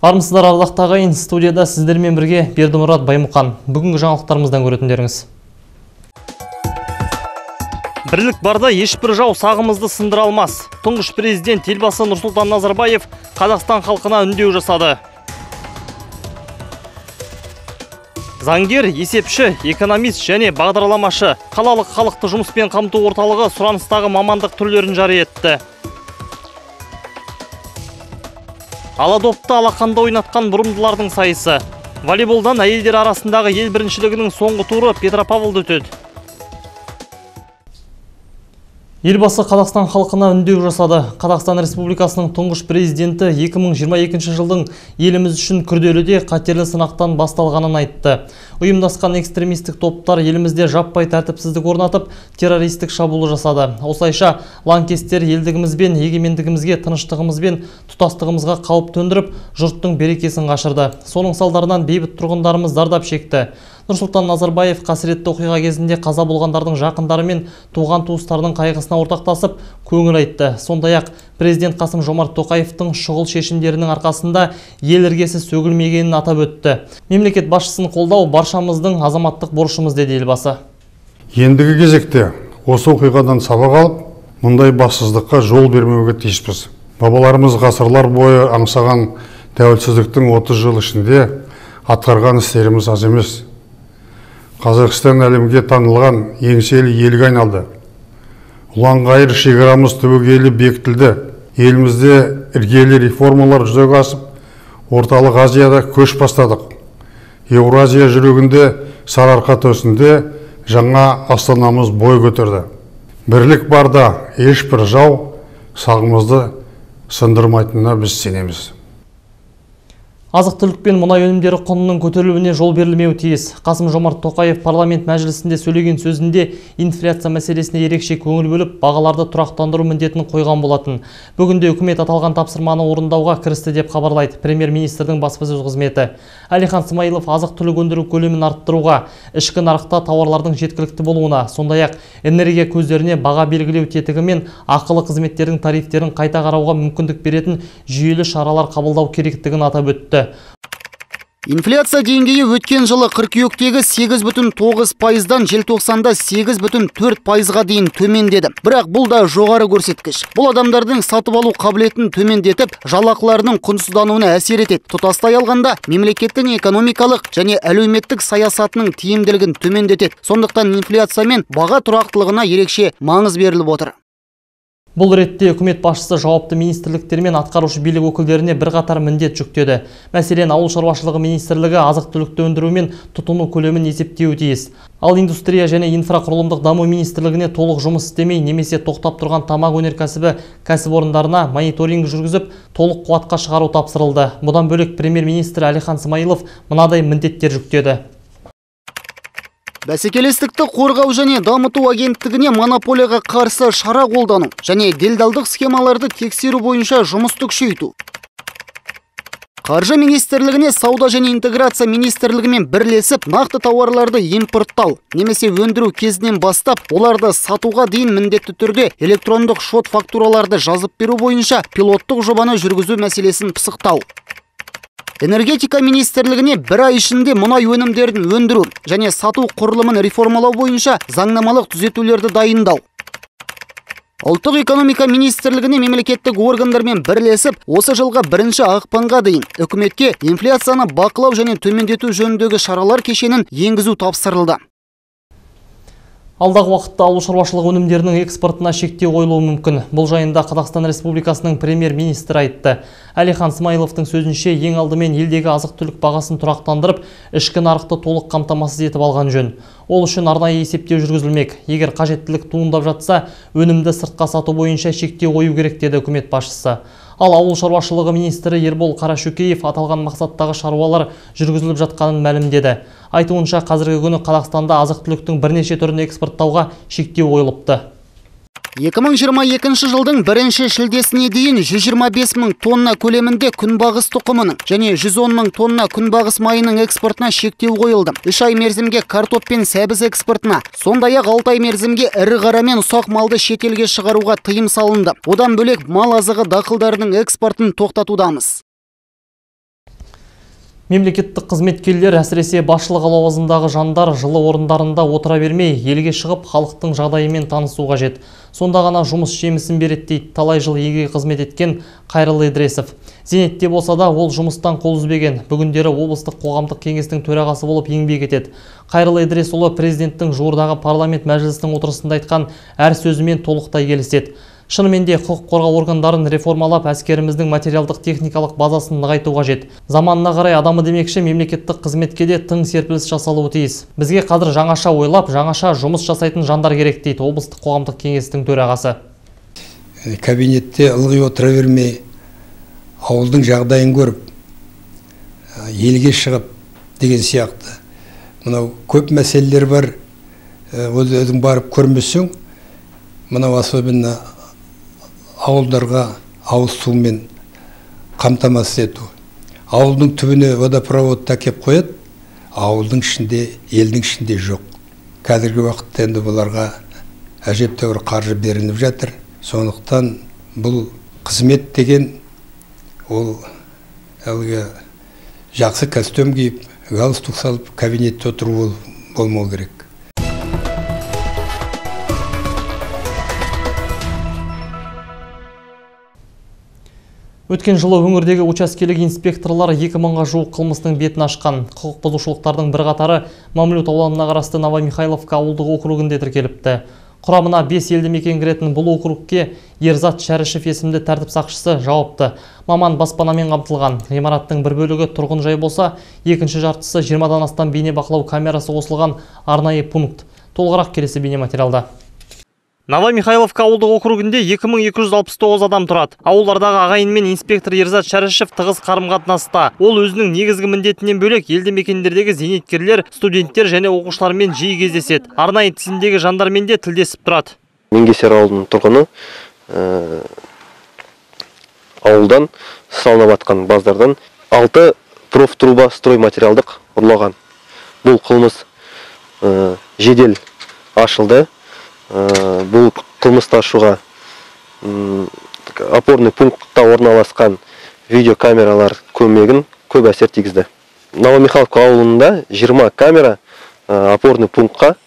Армысыздар ардақты ағайын, студияда сіздермен бірге Бердімұрат Баймұқан. Бүгінгі жаңалықтарымыздан көретіндеріңіз. Бірлік барда ешбір жау сағымызды сындыра алмас. Тұңғыш президент елбасы Нұрсұлтан Назарбаев Қазақстан халқына үндеу жасады. Заңгер, есепші, экономист және бағдарламашы қалалық халықты жұмыспен қамту орталығы сұраныстағы мамандық түрлерін жария етті. Аладопты алақанда ойнатқан бұрымдылардың сайысы. Волейболдан әйелдер арасындағы ел біріншілігінің соңғы туры Петропавлда өтеді. Елбасы Қазақстан халқына үндеу жасады. Қазақстан Республикасының тұңғыш президенті 2022 жылдың еліміз үшін күрделі де қатерлі сынақтан басталғанын айтты. Ұйымдасқан экстремистік топтар елімізде жаппай тәртіпсіздік орнатып, террористік шабуыл жасады. Осылайша лаңкестер елдігімізбен, егемендігімізге, тыныштығымызбен, тұтастығымызға қауіп төндіріп, жұрттың берекесін қашырды. Соның салдарынан бейбіт тұрғындарымыз зардап шекті. Нұрсұлтан Назарбаев қасіретті оқиға кезінде қаза болғандардың жақындары мен туған туыстарының қайғысына ортақтасып, көңіл айтты. Сондай-ақ президент Қасым-Жомарт Тоқаевтың шұғыл шешімдерінің арқасында ел іргесі сөгілмегенін атап өтті. Мемлекет басшысын қолдау баршамыздың азаматтық борышымыз деді елбасы. Ендігі кезекте осы оқиғадан сабақ алып, мұндай бассыздыққа жол бермеуге тиіспіз. Бабаларымыз ғасырлар бойы аңсаған тәуелсіздіктің 30 жыл ішінде атқарған істеріміз аз емес. Қазақстан әлемге танылған еңселі елге айналды. Ұлан-ғайыр шекарамыз түбегейлі бекітілді. Елімізде іргелі реформалар жүзеге асып, орталық Азияда көш бастадық. Еуразия жүрегінде сарыарқа төсінде жаңа астанамыз бой көтерді. Бірлік барда ешбір жау сағымызды сындырмайтынына біз сенеміз. Азық-түлік пен мұнай өнімдері құнының көтерілуіне жол берілмеуі тиіс. Қасым-Жомарт Тоқаев парламент мәжілісінде сөйлеген сөзінде инфляция мәселесіне ерекше көңіл бөліп, бағаларды тұрақтандыру міндетін қойған болатын. Бүгінде үкімет аталған тапсырманы орындауға кірісті деп хабарлайды премьер-министрдің баспасөз қызметі. Әлихан Смайылов азық-түлік өндіру көлемін арттыруға, ішкі нарықта тауарлардың жеткілікті болуына, сондай-ақ энергия көздеріне баға белгілеу тетігі мен ақылы қызметтердің тарифтерін қайта қарауға мүмкіндік беретін жүйелі шаралар қабылдау керектігін атап өтті. Инфляция деңгейі өткен жылы қыркүйектегі 8,9%-дан желтоқсанда 8,4%-ға дейін төмендеді. Бірақ бұл да жоғары көрсеткіш. Бұл адамдардың сатып алу қабілетін төмендетіп, жалақыларының құнсыздануына әсер етеді. Тұтастай алғанда, мемлекеттің экономикалық және әлеуметтік саясатының тиімділігін төмендетеді. Сондықтан инфляция мен баға тұрақтылығына ерекше маңыз беріліп отыр. Бұл ретте үкімет басшысы жауапты министрліктер мен атқарушы билік өкілдеріне бірқатар міндет жүктеді. Мәселен, ауыл шаруашылығы министрлігі азық-түлікті өндіру мен тұтыну көлемін есептеуі тиіс. Ал индустрия және инфрақұрылымдық даму министрлігіне толық жұмыс істемей немесе тоқтап тұрған тамақ өнеркәсібі кәсіпорындарына мониторинг жүргізіп, толық қуатқа шығару тапсырылды. Бұдан бөлек премьер-министр Әлихан Смайылов мынадай міндеттер жүктеді. Бәсекелестікті қорғау және дамыту агенттігіне монополияға қарсы шара қолдану және делдалдық схемаларды тексеру бойынша жұмысты күшейту. Қаржы министрлігіне сауда және интеграция министрлігімен бірлесіп нақты тауарларды импорттау немесе өндіру кезінен бастап оларды сатуға дейін міндетті түрде электрондық шот фактураларды жазып беру бойынша пилоттық жобаны жүргізу мәселесін пысықтау. Энергетика министрлігіне бір ай ішінде мұнай өнімдерін өндіру және сату құрылымын реформалау бойынша заңнамалық түзетулерді дайындау. Ұлттық экономика министрлігіне мемлекеттік органдармен бірлесіп, осы жылға 1 ақпанға дейін үкіметке инфляцияны бақылау және төмендету жөніндегі шаралар кешенін енгізу тапсырылды. Алдағы уақытта ауыл шаруашылығы өнімдерінің экспортына шектеу қойылуы мүмкін. Бұл жайында Қазақстан Республикасының премьер-министрі айтты. Әлихан Смайыловтың сөзінше, ең алдымен елдегі азық-түлік бағасын тұрақтандырып, ішкі нарықты толық қамтамасыз етіп алған жөн. Ол үшін арнайы есептеу жүргізілмек. Егер қажеттілік туындап жатса, өнімді сыртқа сату бойынша шектеу қою керек деді үкімет басшысы. Ал ауыл шаруашылығы министрі Ербол Қарашөкеев аталған мақсаттағы шаруалар жүргізіліп жатқанын мәлімдеді. Айтуынша, қазіргі күні Қазақстанда азық-түліктің бірнеше түрін экспорттауға шектеу қойылыпты. 2022 жылдың 1 шілдесіне дейін 125 мың тонна көлемінде күнбағыс тұқымының және 110 мың тонна күнбағыс майының экспортына шектеу қойылды. 3 ай мерзімге картоп пен сәбіз экспортына, сондай-ақ 6 ай мерзімге ірі қара мен ұсақ малды шетелге шығаруға тыйым салынды. Одан бөлек мал азығы дақылдарының экспортын тоқтатудамыз. Мемлекеттік қызметкерлер, әсіресе басшылық лауазымдағы жандар жылы орындарында отыра бермей, елге шығып, халықтың жағдайымен танысу қажет. Сонда ғана жұмыс жемісін береді дейді талай жыл елге қызмет еткен Қайралы Идресов. Зейнетте болса да ол жұмыстан қол үзбеген. Бүгіндері облыстық қоғамдық кеңестің төрағасы болып еңбек етеді. Қайралы Идресұлы президенттің жуырдағы парламент мәжілісінің отырысында айтқан әр сөзімен толықтай келіседі. Шынымен де құқық қорғау органдарын реформалап, әскеріміздің материалдық техникалық базасын нығайту қажет. Заманына қарай адамы демекші мемлекеттік қызметке де тың серпіліс жасалуы тиіс. Бізге қазір жаңаша ойлап, жаңаша жұмыс жасайтын жандар керек дейді облыстық қоғамдық кеңестің төрағасы. Кабинетте ылғи отыра бермей, ауылдың жағдайын көріп, елге шығып деген сияқты. Мынау көп мәселелер бар, өзің барып көрмесең, мынау особенно ауылдарға ауыз сумен қамтамасыз ету. Ауылдың түбіне водопровод тәкеп қояды, ауылдың ішінде, елдің ішінде жоқ. Қазіргі уақытта енді бұларға әжептәуір қаржы беріліп жатыр. Сондықтан бұл қызмет деген ол әлгі жақсы костюм киіп, галстук салып, кабинетте отыру болмау керек. Өткен жылы өңірдегі учаскелік инспекторлар 2000-ға жуық қылмыстың бетін ашқан. Құқық бұзушылықтардың бірқатары Мамлют ауданына қарасты Новомихайловка ауылдық округінде тіркеліпті. Құрамына 5 елді мекен кіретін бұл округке Ерзат Шәрішев есімді тәртіп сақшысы жауапты. Маман баспанамен қамтылған. Ғимараттың бір бөлігі тұрғын жай болса, екінші жартысы 20-дан астам бейне бақылау камерасы қосылған арнайы пункт. Толығырақ келесі бейне материалда. Новомихайловка ауылдық округінде 2269 адам тұрады. Ауылдардағы ағайын мен инспектор Ерзат Шәрішев тығыз қарым-қатынаста. Ол өзінің негізгі міндетінен бөлек елді мекендердегі зейнеткерлер, студенттер және оқушылармен жиі кездеседі. Арнайы тізімдегі жандармен де тілдесіп тұрады. Меңгесер ауылының тұрғыны ауылдан салынып жатқан баздардан 6 профтруба строй материалдық ұрлаған. Бұл қылмыс жедел ашылды. Бұл қылмысты ашуға опорный пунктта орналасқан видеокамералар көмегін көп әсер тигізді. Новомихайловка ауылында 20 камера опорный пунктқа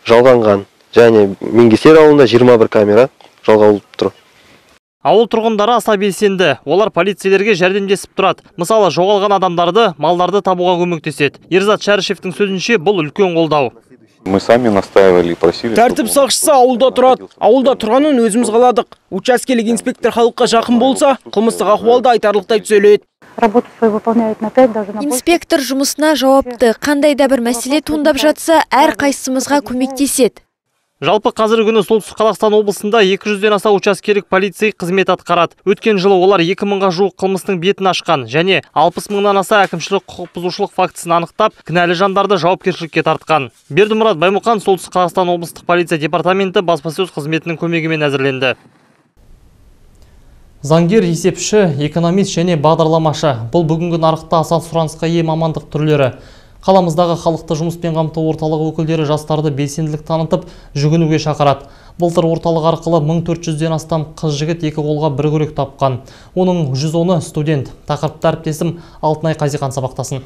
жалғанған, және Меңгесер ауылында 21 камера жалғалып тұр. Ауыл тұрғындары аса белсенді. Олар полицейлерге жәрдемдесіп тұрады. Мысалы, жоғалған адамдарды, малдарды табуға көмектеседі. Ерзат Шәрішевтің сөзінше бұл үлкен қолдау. Мы сами настаивали и просили. Тәртіп сақшысы ауылда тұрады. Ауылда тұрғанын өзіміз қаладық. Учаскелік инспектор халыққа жақын болса, қылмыстық ахуалда айтарлықтай түзеледі. Инспектор жұмысына жауапты. Қандай да бір мәселе туындап жатса, әр қайсымызға көмектеседі. Жалпы қазіргі күні Солтүстік Қазақстан облысында 200-ден аса учаскелік полицей қызмет атқарады. Өткен жылы олар 2000-ға жуық қылмыстың бетін ашқан және 60 мыңнан аса әкімшілік құқық бұзушылық фактісін анықтап, кінәлі жандарды жауапкершілікке тартқан. Бердімұрат Баймұқан, Солтүстік Қазақстан облыстық полиция департаменті баспасөз қызметінің көмегімен әзірленді. Заңгер, есепші, экономист және бағдарламашы. Бұл бүгінгі нарықта аса сұранысқа ие мамандық түрлері. Қаламыздағы халықты жұмыспен қамту орталығы өкілдері жастарды белсенділік танытып, жүгінуге шақырады. Былтыр орталық арқылы 1400-ден астам қыз-жігіт екі қолға бір күрек тапқан. Оның 110-ы студент. Тақырыпты әріптесім Алтынай Қазихан сабақтасын.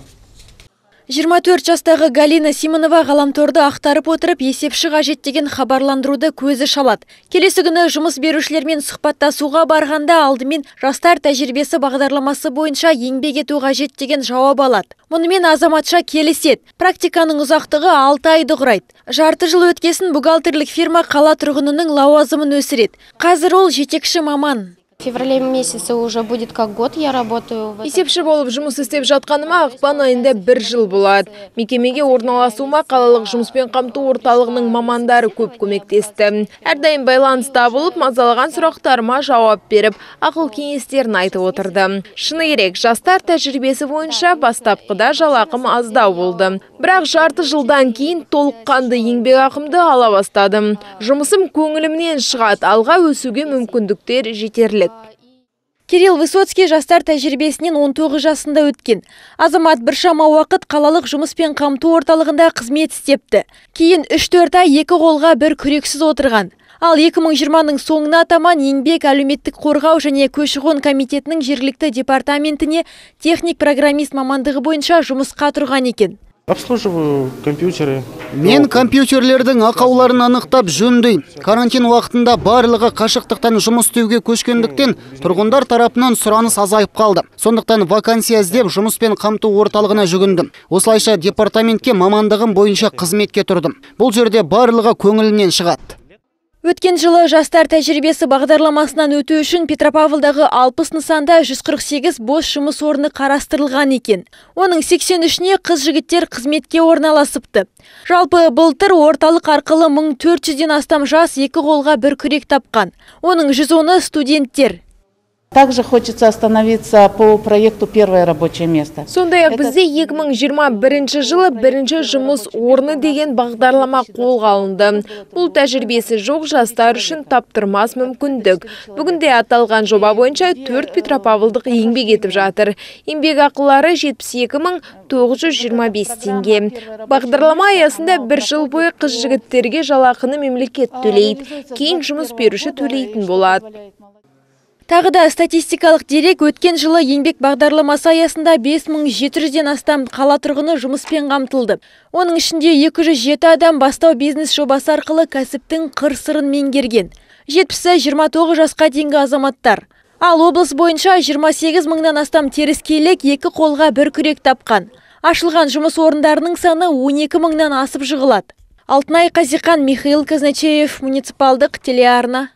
24 жастағы Галина Симонова ғаламторды ақтарып отырып, есепші қажет деген хабарландыруды көзі шалады. Келесі күні жұмыс берушілермен сұхбаттасуға барғанда алдымен жастар тәжірибесі бағдарламасы бойынша еңбек ету қажет деген жауап алады. Мұнымен азаматша келіседі. Практиканың ұзақтығы 6 айды құрайды. Жарты жыл өткесін бухгалтерлік фирма қала тұрғынының лауазымын өсіреді. Қазір ол жетекші маман. В феврале месяце уже будет как год, я работаю. Есепші болып жұмыс істеп жатқаныма ақпан айында 1 жыл болады. Мекемеге орналасуыма қалалық жұмыспен қамту орталығының мамандары көп көмектесті. Әрдайым байланыста болып, мазалаған сұрақтарыма жауап беріп, ақыл кеңестерін айтып отырды. Шыны керек, жастар тәжірибесі бойынша бастапқыда жалақым аздау болды. Бірақ жарты жылдан кейін толыққанды еңбек ақымды ала бастадым. Жұмысым көңілімнен шығады, алға өсуге мүмкіндіктер жетерлік. Кирилл Высоцкий жастар тәжірибесінен 19 жасында өткен. Азамат біршама уақыт қалалық жұмыспен қамту орталығында қызмет істепті. Кейін 3-4 ай екі қолға бір күрексіз отырған. Ал 2020-ның соңына таман еңбек әлеуметтік қорғау және көші-қон комитетінің жергілікті департаментіне техник программист мамандығы бойынша жұмысқа тұрған екен. Обслуживаю компьютеры. Мен компьютерлердің ақауларын анықтап жөндеймін. Карантин уақытында барлығы қашықтықтан жұмыс істеуге көшкендіктен тұрғындар тарапынан сұраныс азайып қалды. Сондықтан вакансия іздеп жұмыспен қамту орталығына жүгіндім. Осылайша департаментке мамандығым бойынша қызметке тұрдым. Бұл жерде барлығы көңілінен шығады. Өткен жылы жастар тәжірибесі бағдарламасынан өту үшін Петропавлдағы 60 нысанда 148 бос жұмыс орны қарастырылған екен. Оның 83-не қыз-жігіттер қызметке орналасыпты. Жалпы былтыр орталық арқылы 1400-ден астам жас екі қолға бір күрек тапқан. Оның 110-ы студенттер. Также хочется остановиться по проекту «Первое рабочее место». Сондай-ақ бізде 2021 жылы бірінші жұмыс орны деген бағдарлама қолға алынды. Бұл тәжірибесі жоқ жастар үшін таптырмас мүмкіндік. Бүгінде аталған жоба бойынша 4 петропавлдық еңбек етіп жатыр. Еңбек ақылары 72.925 теңге. Бағдарлама аясында бір жыл бойы қыз-жігіттерге жалақыны мемлекет төлейді. Кейін жұмыс беруші төлейтін болады. Тағы да статистикалық дерек өткен жылы еңбек бағдарламасы аясында 5700-ден астам қала тұрғыны жұмыспен қамтылды. Оның ішінде 207 адам бастау бизнес жобасы арқылы кәсіптің қыр-сырын меңгерген. 70-і 29 жасқа дейінгі азаматтар. Ал облыс бойынша 28 мыңнан астам теріскейлік екі қолға бір күрек тапқан. Ашылған жұмыс орындарының саны 12 мыңнан асып жығылады. Алтынай Қазиқан, Михаил Казначеев, муниципалдық телеарна.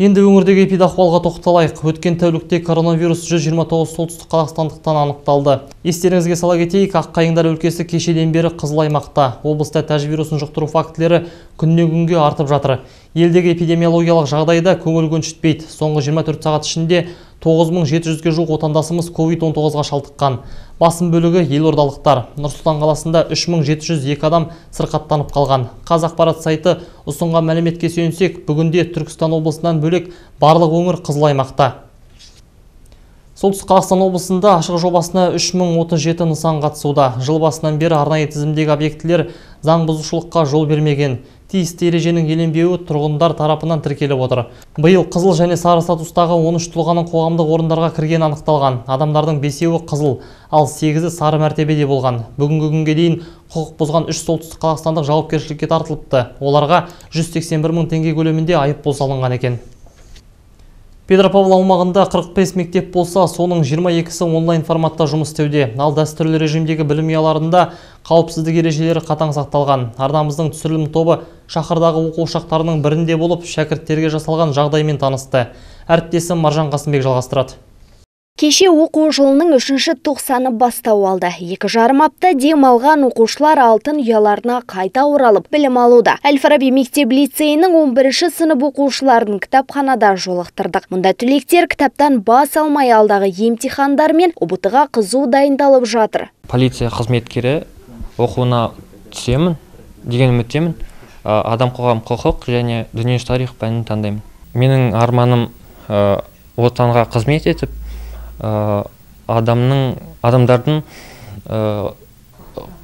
Енді өңірдегі эпидахуалға тоқталайық. Өткен тәулікте коронавирус 129 солтүстік қазақстандықтан анықталды. Естеріңізге сала кетейік, Аққайыңдар өлкесі кешеден бері қызыл аймақта. Облыста тәжі вирусын жұқтыру фактілері күннен күнге артып жатыр. Елдегі эпидемиологиялық жағдайда көңіл көншітпейді. Соңғы 24 сағат ішінде 9700-ге жуық отандасымыз COVID-19-ға шалдыққан. Басым бөлігі елордалықтар. Нұр-Сұлтан қаласында 3702 адам сырқаттанып қалған. Қазақпарат сайты ұсынған мәліметке сүйенсек, бүгінде Түркістан облысынан бөлек барлық өңір қызыл аймақта. Солтүстік Қазақстан облысында ашық жобасына 3037 нысан қатысуда. Жыл басынан бері арнайы тізімдегі объектілер заң бұзушылыққа жол бермеген. Тиісті ереженің еленбеуі тұрғындар тарапынан тіркеліп отыр. Биыл қызыл және сары статустағы 13 тұлғаның қоғамдық орындарға кірген анықталған. Адамдардың 5-еуі қызыл, ал 8-і сары мәртебеде болған. Бүгінгі күнге дейін құқық бұзған 3 солтүстік қазақстандық жауапкершілікке тартылыпты. Оларға 181 мың теңге көлемінде айыппұл салынған екен. Петропавл аумағында 45 мектеп болса, соның 22-сі онлайн форматта жұмыс істеуде. Ал дәстүрлі режимдегі білім ұяларында қауіпсіздік ережелері қатаң сақталған. Арнамыздың түсірілім тобы шаһардағы оқу ошақтарының бірінде болып, шәкірттерге жасалған жағдаймен танысты. Әріптесім Маржан Қасымбек жалғастырады. Кеше оқу жылының 3-ші тоқсаны бастау алды. 2,5 апта дем алған оқушылар алтын ұяларына қайта оралып білім алуда. Әл-Фараби мектеп-лицейінің 11-ші сынып оқушыларын кітапханада жолықтырдық. Мұнда түлектер кітаптан бас алмай алдағы емтихандар мен ұбытыға қызу дайындалып жатыр. Полиция қызметкері оқуына түсемін деген үміттемін. Адам қоғам құқық және дүниежүзі тарих пәнін таңдаймын. Менің арманым отанға қызмет етіп, адамдардың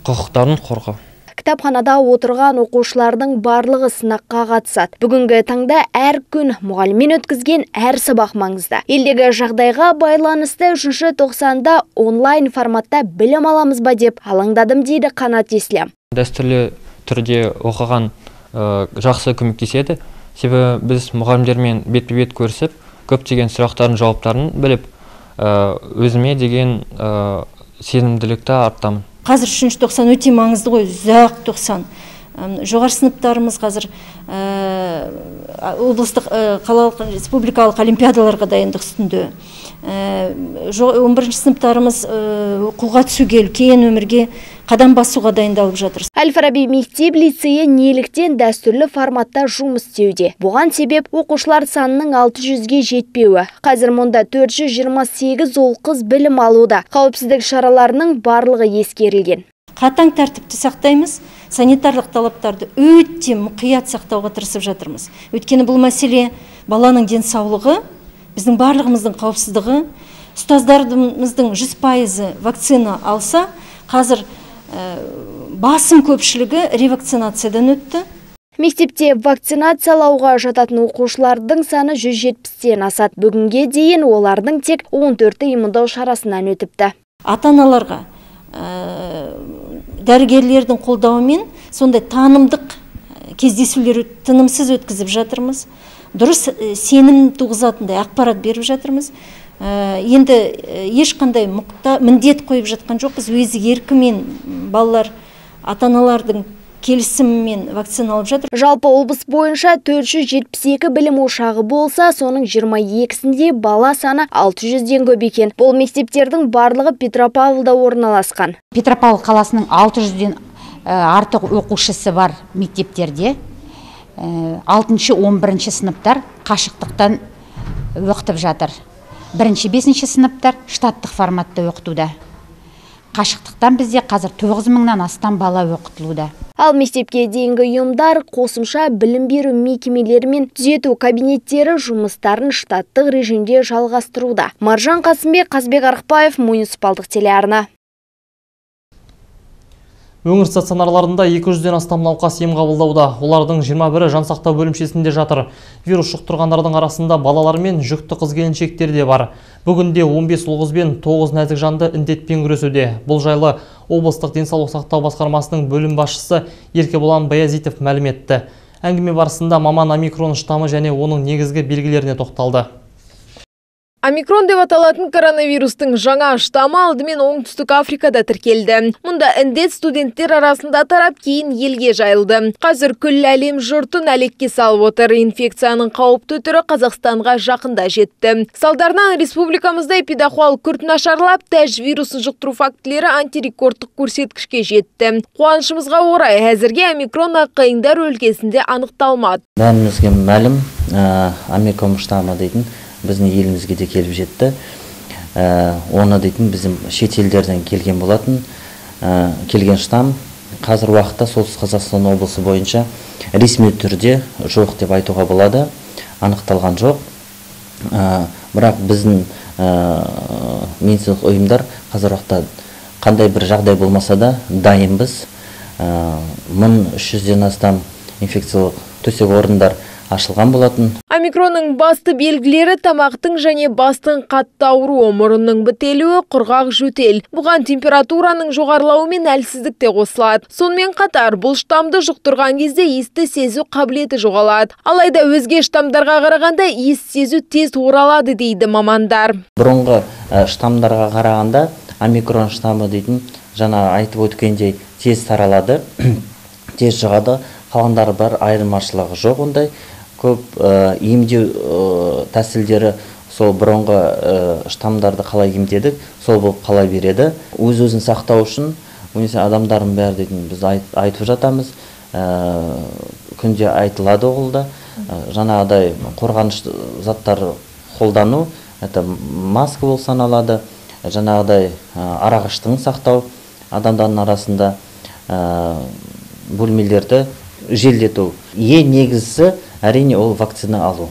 құқықтарын қорғау. Кітапханада отырған оқушылардың барлығы сынаққа қатысады. Бүгінгі таңда әр күн мұғаліммен өткізген әр сабақ маңызды. Елдегі жағдайға байланысты 3-ші тоқсанда онлайн форматта білім аламыз ба деп алаңдадым дейді Қанат Еслям. Дәстүрлі түрде оқыған жақсы көмектеседі. Себебі біз мұғалімдермен бетпе-бет көрісіп, көптеген сұрақтардың жауаптарын біліп, өзіме деген сенімділікті арттамын. Қазір 3-ші тоқсан өте маңызды ғой, ұзақ тоқсан. Жоғары сыныптарымыз қазір облыстық қалалық республикалық олимпиадаларға дайындық үстінде. 11-ші сыныптарымыз оқуға түсуге, үлкен өмірге қадам басуға дайындалып жатыр. Әл-Фараби мектеп-лицейі неліктен дәстүрлі форматта жұмыс істеуде. Бұған себеп оқушылар санының 600-ге жетпеуі. Қазір мұнда 428 ұл-қыз білім алуда. Қауіпсіздік шараларының барлығы ескерілген. Қатаң тәртіпті сақтаймыз, санитарлық талаптарды өте мұқият сақтауға тырысып жатырмыз. Өйткені бұл мәселе баланың денсаулығы, біздің барлығымыздың қауіпсіздігі, ұстаздарымыздың 100% вакцина алса, қазір басым көпшілігі ревакцинациядан өтті. Мектепте вакцинациялауға жататын оқушылардың саны 170-тен асады. Бүгінге дейін олардың тек 14-і иммундау шарасынан өтіпті. Ата-аналарға дәрігерлердің қолдауымен сондай танымдық кездесулер тынымсыз өткізіп жатырмыз. Дұрыс сенім туғызатындай ақпарат беріп жатырмыз. Енді ешқандай міндет қойып жатқан жоқпыз. Өзі еркімен балалар ата-аналардың келісімімен вакциналып жатыр. Жалпы облыс бойынша 472 білім ошағы болса, соның 22-сінде бала саны 600-ден көп екен. Бұл мектептердің барлығы Петропавлда орналасқан. Петропавл қаласының 600-ден артық оқушысы бар мектептерде 6-11 сыныптар қашықтықтан оқытып жатыр. 1-5 сыныптар штаттық форматта оқытуда. Қашықтықтан бізде қазір 9000-нан астам бала оқытылуда. Ал мектепке дейінгі ұйымдар қосымша білім беру мекемелері мен түзету кабинеттері жұмыстарын штаттық режимде жалғастыруда. Маржан Қасымбек, Қазбек Арықбаев, муниципалдық телеарна. Өңір стационарларында 200-ден астам науқас ем қабылдауда. Олардың 21-і жансақтау бөлімшесінде жатыр. Вирус жұқтырғандардың арасында балалар мен жүкті қыз-келіншектер де бар. Бүгінде 15 ұл қыз бен 9 нәзік жанды індетпен күресуде. Бұл жайлы облыстық денсаулық сақтау басқармасының бөлім басшысы Еркебұлан Баязитов мәлім етті. Әңгіме барысында маман омикрон штамы және оның негізгі белгілеріне тоқталды. Омикрон деп аталатын коронавирустың жаңа штамы алдымен оңтүстік Африкада тіркелді. Мұнда індет студенттер арасында тарап, кейін елге жайылды. Қазір күллі әлем жұртын әлекке салып отыр. Инфекцияның қауіпті түрі Қазақстанға жақында жетті. Салдарынан республикамызда эпидахуал күрт нашарлап, тәж вирусын жұқтыру фактілері антирекордтық көрсеткішке жетті. Қуанышымызға орай, әзірге омикрон аққайыңдар өлкесінде анықталмады. Бәрімізге мәлім, омикрон штамы дейтін біздің елімізге де келіп жетті. Оны дейтін біздің шетелдерден келген болатын. Келген штам қазір уақытта Солтүстік Қазақстан облысы бойынша ресми түрде жоқ деп айтуға болады. Анықталған жоқ. Бірақ біздің медициналық ұйымдар қазір уақытта қандай бір жағдай болмаса да дайынбыз. 1300-ден астам инфекциялық төсек орындар ашылған болатын. Омикронның басты белгілері тамақтың және бастың қатты ауруы, мұрынның бітелуі, құрғақ жөтел. Бұған температураның жоғарылауы мен әлсіздік те қосылады. Сонымен қатар бұл штамды жұқтырған кезде иісті сезу қабілеті жоғалады. Алайда өзге штамдарға қарағанда иіс сезу тез оралады дейді мамандар. Бұрынғы штамдарға қарағанда омикрон штамы дейтін жаңа айтып өткендей тез таралады, тез жұғады. Қалғандары бар, айырмашылығы жоқ ондай. Көп емдеу тәсілдері сол бұрынғы штамдарды қалай емдедік, сол болып қала береді. Өз-өзін сақтау үшін адамдардың бәрі дейтін біз айтып жатамыз. Күнде айтылады олда. Жаңағыдай қорғаныш заттар қолдану, маска болып саналады. Жаңағыдай арағыштығын сақтау, адамдардың арасында бөлмелерді желдету. Ең негізі әрине ол вакцина алу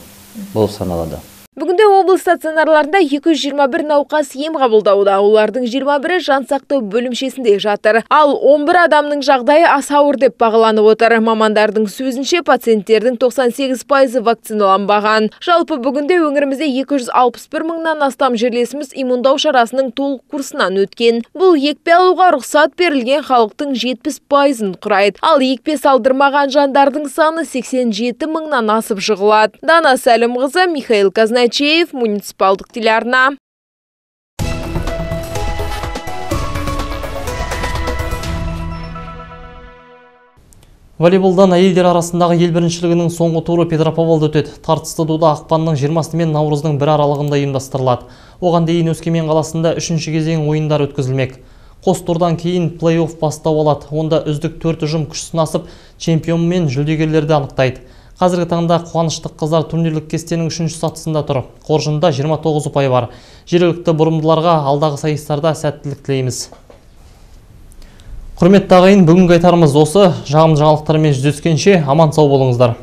болып саналады. Бүгінде облыс стационарларында 221 науқас ем қабылдауда. Олардың 21-і жансақтау бөлімшесінде жатыр. Ал 11 адамның жағдайы аса ауыр деп бағаланып отыр. Мамандардың сөзінше пациенттердің 98% вакциналанбаған. Жалпы бүгінде өңірімізде 261 мыңнан астам жерлесіміз иммундау шарасының толық курсынан өткен. Бұл екпе алуға рұқсат берілген халықтың 70%-ын құрайды. Ал екпе салдырмаған жандардың саны 87 мыңнан асып жығылады. Дана Сәлімқызы, Михаил Казнайчиев, муниципалдық телеарна. Волейболдан әйелдер арасындағы ел біріншілігінің соңғы туры Петропавлда өтеді. Тартысты дуда ақпанның 20-сы мен наурыздың 1 аралығында ұйымдастырылады. Оған дейін Өскемен қаласында 3-ші кезең ойындар өткізілмек. Қос турдан кейін плей-офф бастау алады. Онда үздік 4 ұжым күш сынасып, чемпион мен жүлдегерлерді анықтайды. Қазіргі таңда қуаныштық қыздар турнирлік кестенің 3-ші сатысында тұр. Қоржында 29 ұпай бар. Жергілікті бұрымдыларға алдағы сайыстарда сәттілік тілейміз. Құрметті ағайын, бүгінгі айтарымыз осы. Жағымды жаңалықтармен жүздескенше аман сау болыңыздар.